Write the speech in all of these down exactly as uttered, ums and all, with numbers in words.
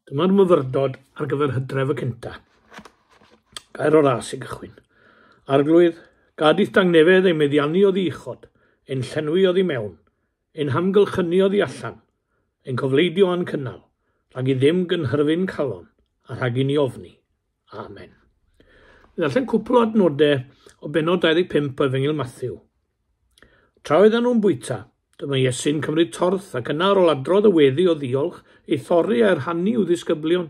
Dyma'r myfyrdod ar gyfer Hydref y cynta. Gair o ras i gychwyn. Arglwydd, gad i'th dangnefedd ein meddiannu oddi uchod, ein llenwi oddi mewn, ein hamgylchynu oddi allan, ein cofleidio a'n cynnal, rhag i ddim gynhyrfu'n calon, a rhag i ni ofni. Amen. Mi ddarllen cwpl o adnodau o bennod dau ddeg pump o Efengyl Mathew. Tra oedden nhw'n bwyta, dyma Iesu'n cymryd torth ac yna ar ôl adrodd y weddi o ddiolch, ei thorri a'i rhannu i'w ddisgyblion.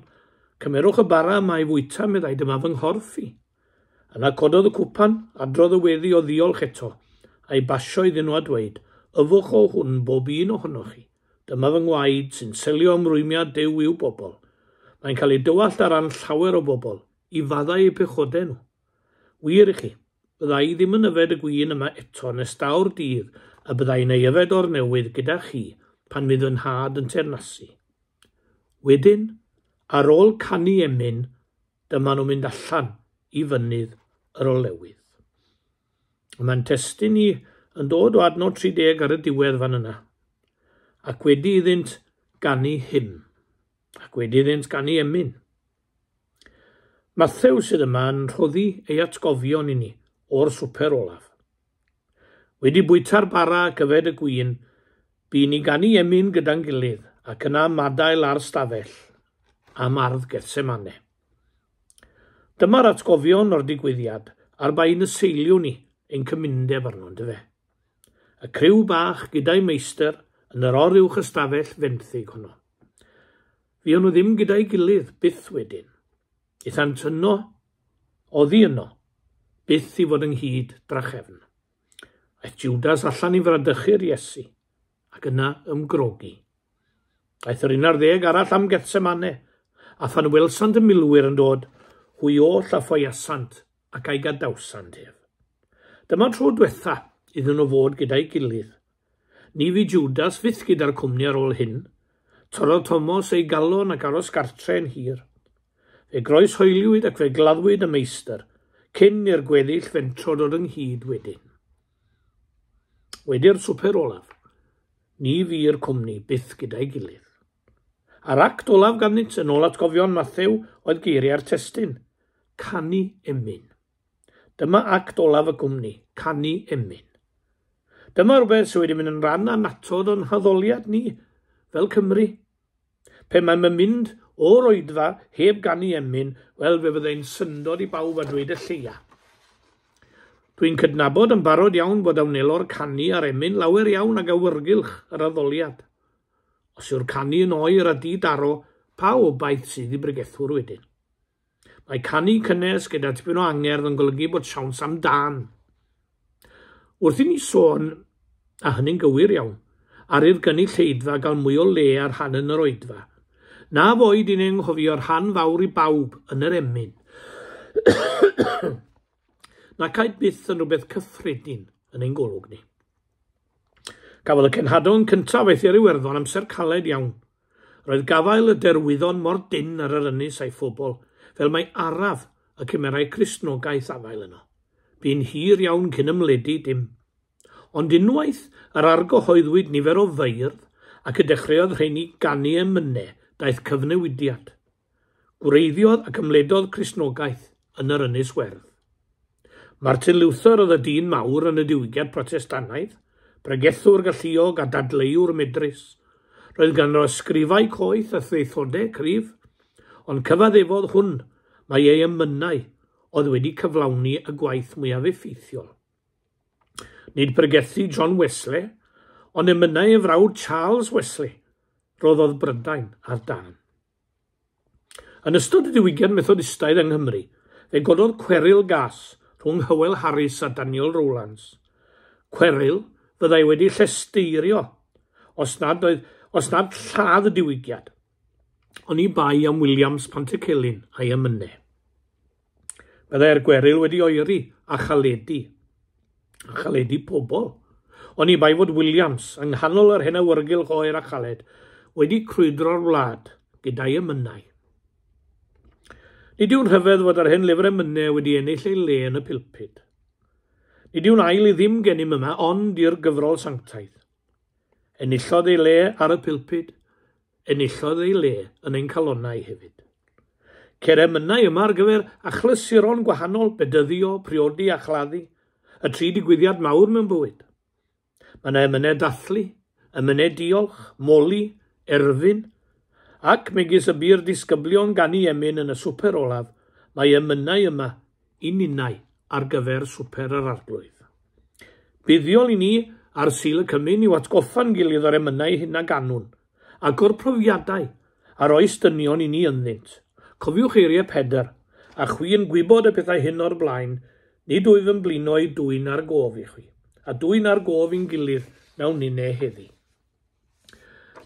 Cymerwch y bara yma i fwyta, meddai, dyma fy nghorff i. Yna cododd y cwpan, adrodd y weddi o ddiolch eto, a'i basio iddyn nhw a dweud, yfwch o hwn bob un ohonoch chi. Dyma fy ngwaed sy'n selio ymrwymiad Duw i'w bobl. Mae'n cael ei dywallt ar ran llawer o bobl, i faddau eu pechodau nhw. Wir i chi, bydda i ddim yn yfed y gwin yma eto nes daw'r dydd a bydda i'n ei yfed o'r newydd gyda chi pan fydd fy nhad yn teyrnasu. Wedyn, ar ôl canu emyn, dyma nhw'n mynd allan i fynydd yr olewydd. Mae'n testun ni yn dod o adnod tri deg ar y diwedd fan yna. Ac wedi iddynt ganu hymn, ac wedi iddynt ganu emyn. Mathew sydd yma yn rhoddi ei atgofion i ni o'r swper olaf. Wedi bwyta'r bara ac yfed y gwin, bu ni ganu emyn gyda'n gilydd ac yna madael ar stafell am ardd Gethsemane. Dyma'r atgofion o'r digwyddiad ar ba un y seiliwn ni ein cymundeb arno, yndyfe. Y criw bach gyda'i meistr yn yr oruwch ystafell fenthyg honno. Fuon nhw ddim gyda'i gilydd byth wedyn. Aethant yno, oddi yno, byth i fod ynghyd drachefn. Aeth Judas allan i fradychu'r Iesu, ac yna ymgrogi. Aeth yr un ar ddeg arall am Gethsemane, a phan welsant y milwyr yn dod, hwy oll a ffoiasant ac a'i gadawsant ef. Dyma tro diwetha iddyn nhw fod gyda'i gilydd. Ni fu Judas fyth gyda'r cwmni ar ôl hyn. Torrodd Thomas ei galon ac aros gartre yn hir. Fe groeshoeliwyd ac fe gladdwyd y meistr, cyn i'r gweddill fentro dod ynghyd wedyn. Wedi'r swper olaf, ni fu'r cwmni byth gyda'i gilydd. A'r act olaf ganddynt yn ôl atgofion Mathew oedd geiriau'r testun, canu emyn. Dyma act olaf y cwmni, canu emyn. Dyma rhywbeth sydd wedi mynd yn rhan annatod o'n haddoliad ni, fel Cymru. Pe mae'n mynd o'r oedfa heb ganu emyn, wel fe fyddai'n syndod i bawb a dweud y lleia. Dwi'n cydnabod yn barod iawn bod a wnelo'r canu a'r emyn lawer iawn ag awyrgylch yr addoliad. Os yw'r canu yn oer a di-daro, pa obaith sydd i bregethwr wedyn? Mae canu cynnes gyda tipyn o angerdd yn golygu bod siawns am dân. Wrth i ni sôn, a hynny'n gywir iawn, ar i'r gynulleidfa gael mwy o le ar rhan yn yr oedfa, na foed i ni anghofio'r rhan fawr i bawb yn yr emyn. Na caed byth yn rhywbeth cyffredin yn ein golwg ni. Cafodd y cenhadon cyntaf aeth i'r Iwerddon amser caled iawn. Roedd gafael y derwyddon mor dynn ar yr ynys a'i phobl, fel mai araf y cymerai Cristnogaeth afael yno. Bu'n hir iawn cyn ymledu dim. Ond unwaith yr argyhoeddwyd nifer o feirdd ac y dechreuodd rheini ganu emynau, daeth cyfnewidiad. Gwreiddiodd ac ymledodd Cristnogaeth yn yr Ynys Werdd. Martin Luther oedd y dyn mawr yn y diwygiad Protestannaidd, pregethwr galluog a dadleuwr medrus. Roedd ganddo ysgrifau coeth a thraethodau cryf, ond cyfaddefodd hwn mai ei emynau oedd wedi cyflawni y gwaith mwyaf effeithiol. Nid pregethu John Wesley, ond emynau ei frawd Charles Wesley, roddodd Brydain ar dân. Yn ystod y diwygiad Methodistaidd yng Nghymru, fe gododd cweryl gas rhwng Hywel Harris a Daniel Rowlands. Cweryl fyddai wedi llesteirio os nad, oedd, os nad lladd y diwygiad, oni bai am Williams Pantycelyn a'i emynau. Byddai'r gweryl wedi oeri a chaledu, a chaledu pobl. Oni bai fod Williams, yng nghanol yr hen awyrgylch oer a chaled, wedi crwydro'r wlad gyda'i emynau. Nid yw'n rhyfedd fod yr hen lyfr emynau wedi ennill ei le yn y pulpud. Nid yw'n ail i ddim gennym yma, ond i'r gyfrol sanctaidd. Enillodd ei le ar y pulpud, Enillodd ei le yn ein calonnau hefyd. Ceir emynau yma ar gyfer achlysuron gwahanol, bedyddio, priodi a chladdu, y tri digwyddiad mawr mewn bywyd. Mae yna emynau dathlu, emynau diolch, moli, erfyn, ac megis y bu'r disgyblion ganu emyn yn y swper olaf, mae emynau yma i ninnau ar gyfer swper yr Arglwydd. Buddiol i ni ar Sul y Cymun i'w atgoffa'n gilydd o'r emynau hyn a ganwn, ac o'r profiadau a'r oes dynion i ni ynddynt. Cofiwch eiriau Pedr, a chwi yn gwybod y pethau hyn o'r blaen, nid wyf yn blino i dwyn ar gof i chwi, a dwyn ar gof i'n gilydd mewn ninne heddi.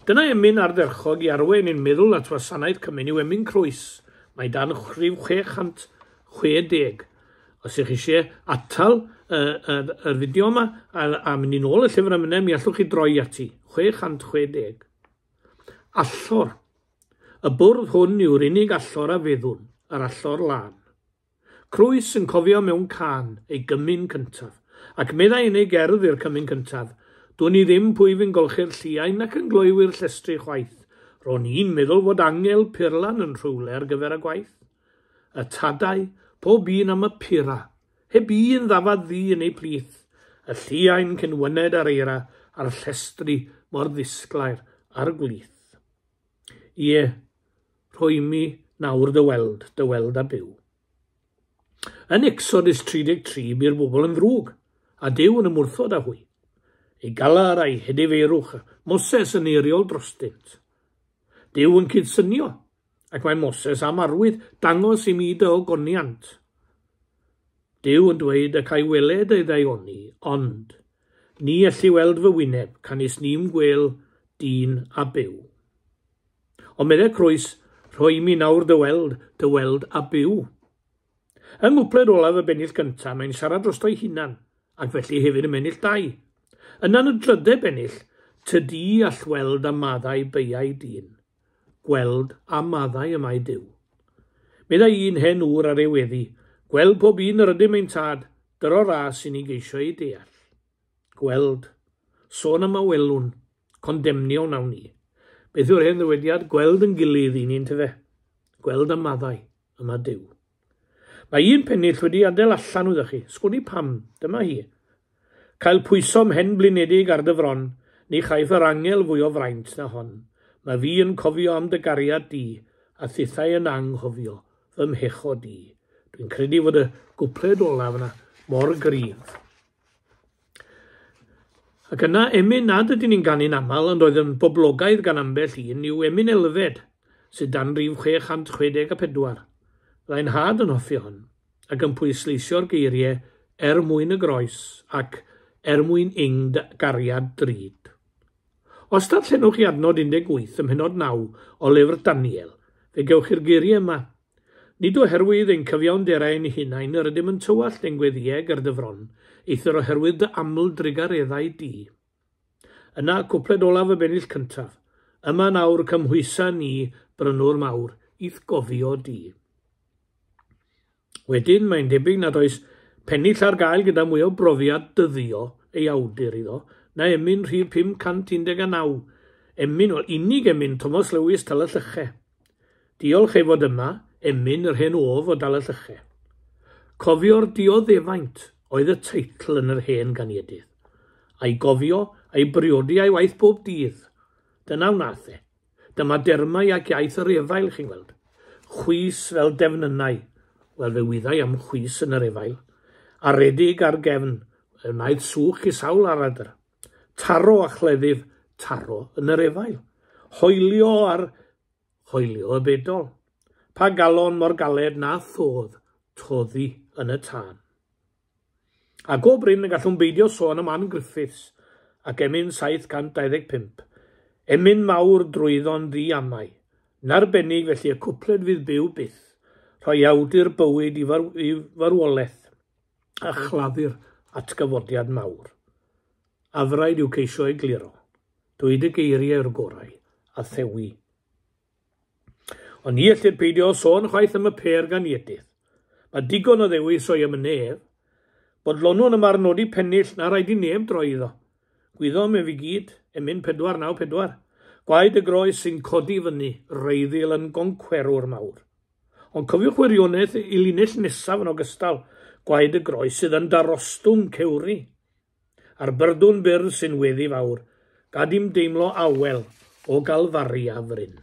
Dyna emyn ardderchog i arwain ein meddwl at wasanaeth Cymun yw emyn Croes. Mae dan rhif chwe chant chwe deg. Os ych chi eisiau atal y, y, y fideo yma a, a mynd i nôl y llyfr emynau, mi allwch chi droi ati. chwe chant chwe deg. Allor. Y bwrdd hwn yw'r unig allor a feddwn, yr allor lân. Crwys yn cofio mewn cân ei gymun cyntaf, ac meddai yn ei gerdd i'r cymun cyntaf, dwn i ddim pwy fi'n golchi'r lliain ac yn gloywi'r llestri chwaith. Ro'n i'n meddwl fod angel purlan yn rhywle ar gyfer y gwaith. Y tadau, pob un am y pura, heb un ddafad ddu yn ei plith, y lliain cyn wyned ar eira, a'r llestri mor ddisglair a'r gwlith. Ie, rhoi mi nawr dy weld, dy weld a byw. Yn Exodus tri deg tri, bu'r bobl yn ddrwg, a Duw yn ymwrthod â hwy. Ei galar a'i hedifeirwch, Moses yn eiriol drostynt. Duw yn cydsynio, ac mae Moses am arwydd dangos i mi dy ogoniant. Duw yn dweud y cae weled ei ddaioni, ond ni elli weld fy wyneb, canys ni'm gwel dyn a byw. Ond meddai Crwys, rhoi mi nawr dy weld, dy weld a byw. Yng nghwpled olaf y bennill gyntaf, mae'n siarad drosto'i hunan, ac felly hefyd y bennill dau. Yna yn y drydedd bennill, tydi all weld a maddau beiau dyn. Gweld a maddau y mae Duw. Meddai un hen ŵr ar ei weddi, gweld pob un yr ydym ein tad, dyro ras i ni geisio ei deall. Gweld, sôn am a welwn, condemnio wnawn ni. Beth yw'r hen ddywediad? Gweld yn gilydd i ni'n tyfe. Gweld a maddau yma Duw. Mae un pennill wedi adael allan wyddoch chi. Sgwn i pam, dyma hi. Cael pwyso mhen blinedig ar dy fron, ni chaiff yr angel fwy o fraint na hon. Mae fi yn cofio am dy gariad di, a thithau yn anghofio fy mhecho di. Dwi'n credu fod y gwpled olaf yna mor gryf. Ac yna, emyn nad ydyn ni'n ganu'n aml, ond oedd yn boblogaidd gan ambell un, yw emyn Elfed, sydd dan rif chwe chant chwe deg a pedwar. Byddai'n nhad yn hoffi hon, ac yn pwysleisio'r geiriau er mwyn y groes ac er mwyn ing gariad drud. Os darllenwch chi adnod un deg wyth ym mhennod naw o lyfr Daniel, fe gewch chi'r geiriau yma. Nid oherwydd ein cyfiawnderau ein hunain yr ydym yn tywallt ein gweddïau ger dy fron, eithr oherwydd dy aml drugareddau di. Yna, cwpled olaf y bennill cyntaf, yma nawr cymhwysa ni, brynwr mawr, i'th gofio di. Wedyn, mae'n debyg nad oes pennill ar gael gyda mwy o brofiad dyddio ei awdur iddo, na emyn rhif pum cant un deg naw, emyn, wel, unig emyn Thomas Lewis Talyllyche. Diolch ei fod yma, emyn yr hen of o Dalyllyche. Cofio'r dioddefaint oedd y teitl yn yr hen ganiedydd. A'i gofio, a'i briodi a'i waith bob dydd. Dyna wnaeth e. Dyma dermau ac iaith yr efail, chi'n gweld. Chwys fel defnynnau. Wel, fe wyddai am chwys yn yr efail. Aredig ar gefn, wnaeth sŵch i sawl aradr. Taro a chleddyf, taro yn yr efail. Hoelio ar hoelio y bedol. Pa galon mor galed na thodd, toddi yn y tân. A go brin y gallwn beidio sôn am Ann Griffiths ac emyn saith cant dau ddeg pump. Emyn mawr drwyddo'n ddiamau. Narbennig felly y cwpled fydd byw byth, rhoi awdur bywyd i, far i farwolaeth a chladdu'r atgyfodiad mawr. Afraid yw ceisio egluro, dweud y geiriau yw'r gorau a thewi. Ond ni ellir peidio sôn chwaith am y pêr ganiedydd. Mae digon o ddewis o'i emynau ef. Bodlonwn yma'r nodi pennill na raid i neb droi iddo. Gwyddom ef i gyd, emyn pedwar naw pedwar. Gwaed y groes sy'n codi fyny, reiddil yn goncwerwr mawr. Ond cofiwch wirionedd i linell nesaf yn ogystal, gwaed y groes sydd yn darostwng cewri. A'r byrdwn byr sy'n weddi fawr, gad i'm deimlo awel o Galfaria fryn.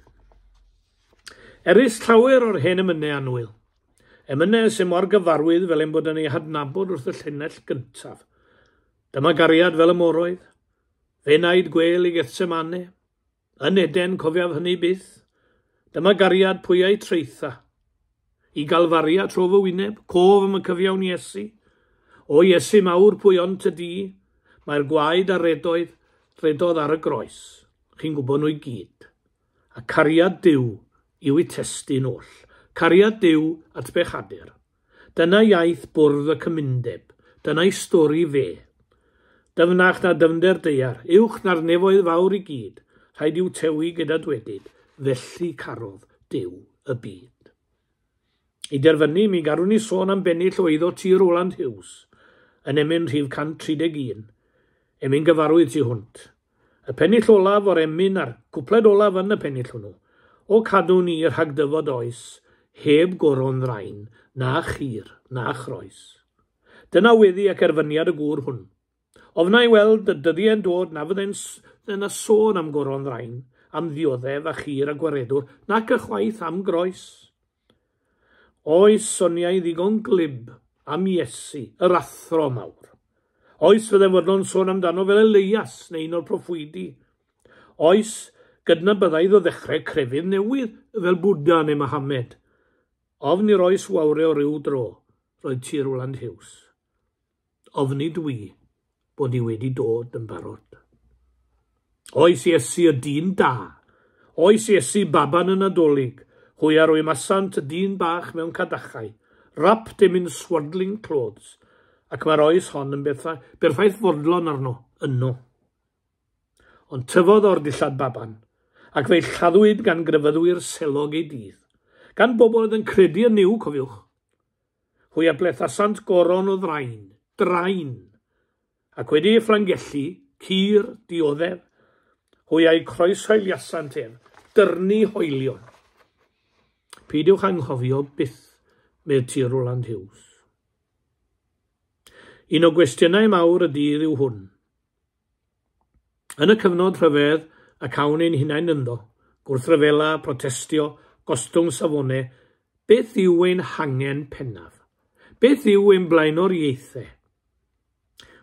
Erys llawer o'r hen emynau annwyl. Emynau sy'n mor gyfarwydd fel ein bod yn ei hadnabod wrth y llinell gyntaf. Dyma gariad fel y moroedd, fe naid gwel i Gethsemane, yn Eden cofiaf hynny byth. Dyma gariad pwyau treitha, i Galfaria tro fy wyneb, cof am y cyfiawn Iesu. O Iesu mawr pwy ond ty di, mae'r gwaed a redoedd, redodd ar y groes. Chi'n gwybod nhw i gyd. A cariad Duw yw eu testun oll. Cariad Duw at bechadur. Dyna iaith bwrdd y cymundeb. Dyna'i stori fe. Dyfnach na dyfnder daear, uwch na'r nefoedd fawr i gyd, rhaid i'w tewi gyda dwedyd, felly carodd Duw y byd. I derfynu, mi garwn ni sôn am bennill o eiddo T. Roland Hughes, yn emyn rhif cant tri deg un, emyn gyfarwydd tu hwnt. Y pennill olaf o'r emyn a'r cwpled olaf yn y pennill hwnnw, o cadw ni rhag dyfod oes, heb goron ddrain, na chur, na chroes. Dyna weddi ac erfyniad y gŵr hwn. Ofna i weld y dyddiau'n dod na fydde'n yna sôn am goron ddrain, am ddioddef a chur a gwaredwr, nac ychwaith am groes. Oes soniau ddigon glib am Iesu, yr athro mawr. Oes fydde fodlon sôn amdano fel Elias neu un o'r proffwydi. Oes gydnabyddai iddo ddechrau crefydd newydd fel Bwdha neu Mohammed. Ofn i'r oes wawre o ryw dro, roedd T. Roland Hughes. Ofni dwi bod i wedi dod yn barod. Oes Iesu y dyn da. Oes Iesu baban y Nadolig. Hwy a rwymasant y dyn bach mewn cadachau, wrapped him in swaddling clothes, ac mae'r oes hon yn berffaith fodlon arno, yno. Ond tyfodd o'r dillad baban, ac fe'i lladdwyd gan grefyddwyr selog ei dydd, gan bobl oedd yn credu yn Nuw, cofiwch. Hwy a blethasant goron o ddrain, drain, ac wedi ei fflangellu, cur, dioddef, hwy a'i croeshoeliasant ef, dyrnu hoelion. Peidiwch anghofio byth, medd T. Roland Hughes. Un o gwestiynau mawr y dydd yw hwn. Yn y cyfnod rhyfedd y cawn ein hunain ynddo, gwrthryfela, protestio, gostwng safonau, beth yw ein hangen pennaf? Beth yw ein blaenoriaethau?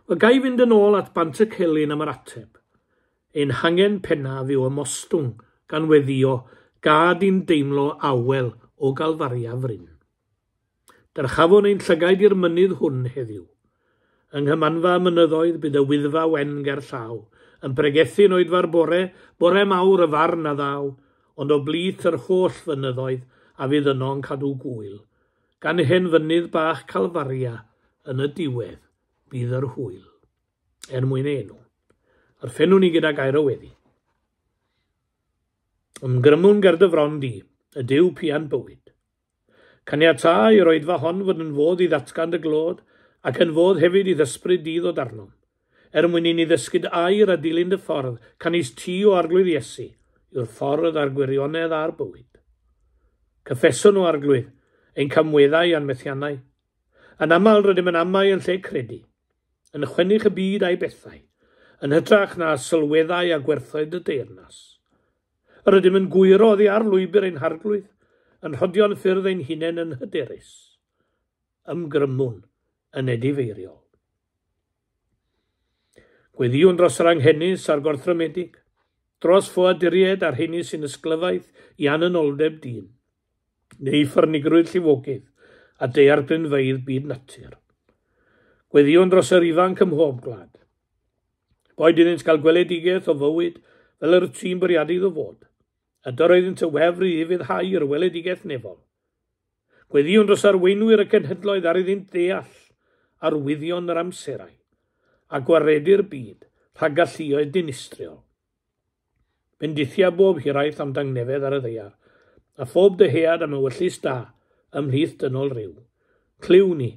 Wel, ga i fynd yn ôl at Bant y Celyn am yr ateb. Ein hangen pennaf yw ymostwng gan weddio, gad i'n deimlo awel o Galfaria fryn. Dyrchafwn ein llygaid i'r mynydd hwn heddiw. Yng nghymanfa mynyddoedd bydd y wyddfa wen ger llaw, yn pregethu'n oedfa'r bore, bore mawr y farn a ddaw, ond o blith yr holl fynyddoedd a fydd yno'n cadw gwyl. Gan hen fynydd bach Calfaria yn y diwedd bydd yr hwyl. Er mwyn ei enw. Orffennwn ni gyda gair o weddi. Ymgrymwn ger dy fron di, y Duw pian bywyd. Caniatâ i'r oedfa hon fod yn fodd i ddatgan dy glod, ac yn fodd hefyd i ddysbryd dydd o darnom. Er mwyn i ni ddysgyd air a dilyn dy ffordd, canys ti o Arglwydd Iesu, yw'r ffordd a'r gwirionedd a'r bywyd. Cyffeswn o Arglwydd, ein camweddau a'n methiannau. Yn aml rydym yn amau yn lle credu, yn chwennych y byd a'i bethau, yn hytrach na sylweddau a gwerthoedd y deyrnas. Yr ydym yn gwyro oddi ar lwybr ein harglwydd, yn rhodio'n ffyrdd ein hunain yn hyderus. Ymgrymwn yn edifeiriol. Gweddïwn dros yr anghenus a'r gorthrymedig, dros ffoaduriaid a'r rheini sy'n ysglyfaeth i ananoldeb dyn, neu ffyrnigrwydd llifogydd a daeargrynfeydd byd natur. Gweddïwn dros yr ifanc ym mhob gwlad. Boed iddynt gael gweledigaeth o fywyd fel yr tîm bwriadu iddo fod, a dyr oeddynt y wefr i ufuddhau i'r weledigaeth nefol. Gweddïwn dros arweinwyr y cenhedloedd ar iddynt ddeall arwyddion yr amserau, a gwaredu'r byd rhag galluoedd dinistriol. Bendithia bob hiraeth am dangnefedd ar y ddaear, a phob dyhead am ewyllys da ymhlith dynol ryw. Clyw ni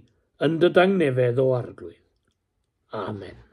yn dy dangnefedd o Arglwydd. Amen.